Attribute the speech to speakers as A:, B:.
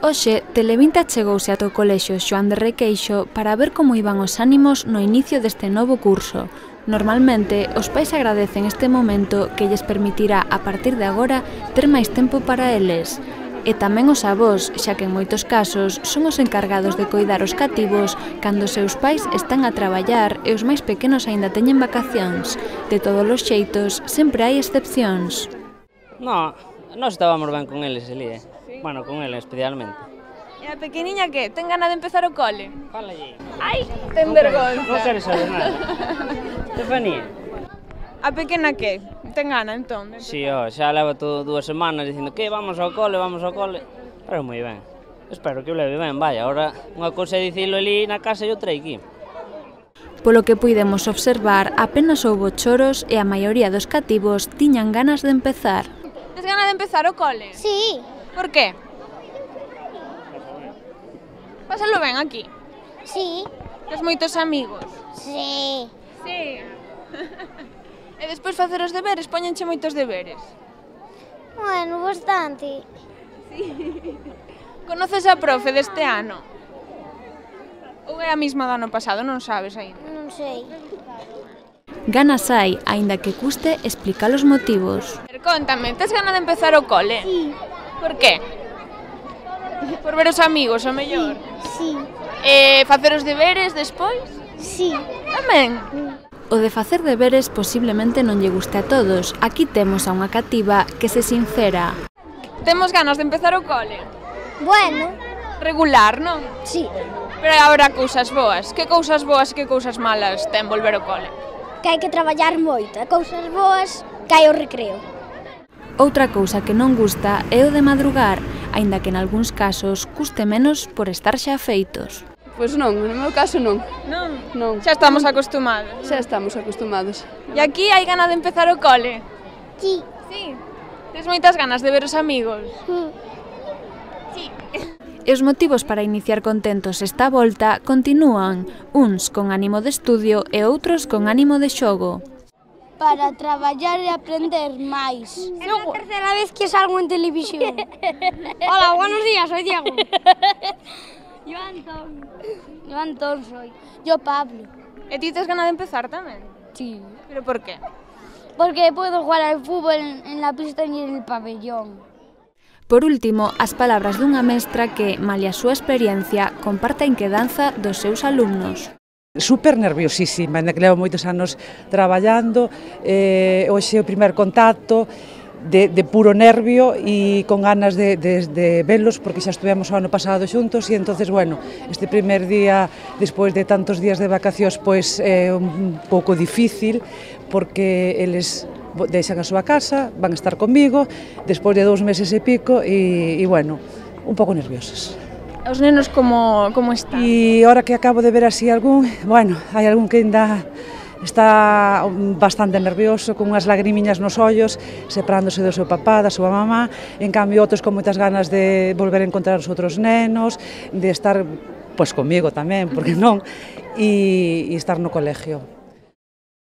A: Hoxe, Televinta chegouse ata o colexio Xoán de Requeixo para ver como iban os ánimos no inicio deste novo curso. Normalmente, os pais agradecen este momento que lles permitirá, a partir de agora, ter máis tempo para eles. E tamén os avós, xa que en moitos casos son os encargados de coidar os cativos cando os seus pais están a traballar e os máis pequenos aínda teñen vacacións. De todos os xeitos, sempre hai excepcións.
B: No, nós estábamos ben con eles, Elí, Bueno, con eles especialmente.
C: E a pequeniña que? Ten gana de empezar o cole?
B: Fala allí.
C: Ai, ten vergonza.
B: Non queres saber nada. Estefanía.
C: A pequena que? Ten gana, entón?
B: Si, xa leva todo 2 semanas dicindo que vamos ao cole, pero moi ben. Espero que o leve ben, vai, agora unha cousa é dicilo ali na casa e outra aquí.
A: Polo que puidemos observar, apenas houbo choros e a maioría dos cativos tiñan ganas de empezar.
C: Tes gana de empezar o cole?
D: Sí.
C: Por qué? Pásalo ben aquí.
D: Sí.
C: Tes moitos amigos?
D: Sí.
C: Sí. E despois facer os deberes, poñenche moitos deberes.
D: Bueno, bastante.
C: Conoces a profe deste ano? Ou é a mesma do ano pasado, non sabes aínda?
D: Non sei.
A: Ganas hai, aínda que custe explicar os motivos.
C: Cóntame, tes gana de empezar o cole?
D: Sí.
C: Por qué? Por ver os amigos, o mellor?
D: Sí.
C: E facer os deberes despois?
D: Sí.
C: Tamén?
A: O de facer deberes posiblemente non lle guste a todos. Aquí temos a unha cativa que se sincera.
C: Temos ganas de empezar o cole?
D: Bueno.
C: Regular, non?
D: Sí.
C: Pero habrá cousas boas. Que cousas boas e que cousas malas ten volver ao cole?
D: Que hai que traballar moito. E cousas boas que hai o recreo.
A: Outra cousa que non gusta é o de madrugar, aínda que en algúns casos custe menos por estar xa feitos.
E: Pois non, no meu caso non.
C: Non?
E: Non.
C: Xa estamos acostumados.
E: Xa estamos acostumados.
C: E aquí hai gana de empezar o cole?
D: Sí.
C: Sí. Tes moitas ganas de ver os amigos? Sí.
A: E os motivos para iniciar contentos esta volta continúan, uns con ánimo de estudio e outros con ánimo de xogo.
D: Para traballar e aprender máis. É a terceira vez que salgo en televisión. Hola, buenos días, soy Diego. Yo Antón soy. Yo Pablo.
C: E ti tes gana de empezar tamén?
D: Sí.
C: Pero por qué?
D: Porque puedo jugar al fútbol en la pista y en el pabellón.
A: Por último, as palabras dunha mestra que, malia a súa experiencia, comparte a inquedanza dos seus alumnos.
F: Super nerviosísima, ainda que levo moitos anos traballando, hoxe o primer contacto de puro nervio e con ganas de velos, porque xa estuvemos o ano pasado xuntos e entonces, bueno, este primer día, despois de tantos días de vacacións, pois é un pouco difícil, porque eles deixan a súa casa, van a estar comigo, despois de 2 meses e pico, e bueno, un pouco nerviosos.
C: Os nenos como están?
F: E ahora que acabo de ver así algún, bueno, hai algún que ainda está bastante nervioso, con unhas lagrimiñas nos ollos, separándose do seu papá, da súa mamá, en cambio outros con moitas ganas de volver a encontrar os outros nenos, de estar, pois, comigo tamén, porque non, e estar no colegio.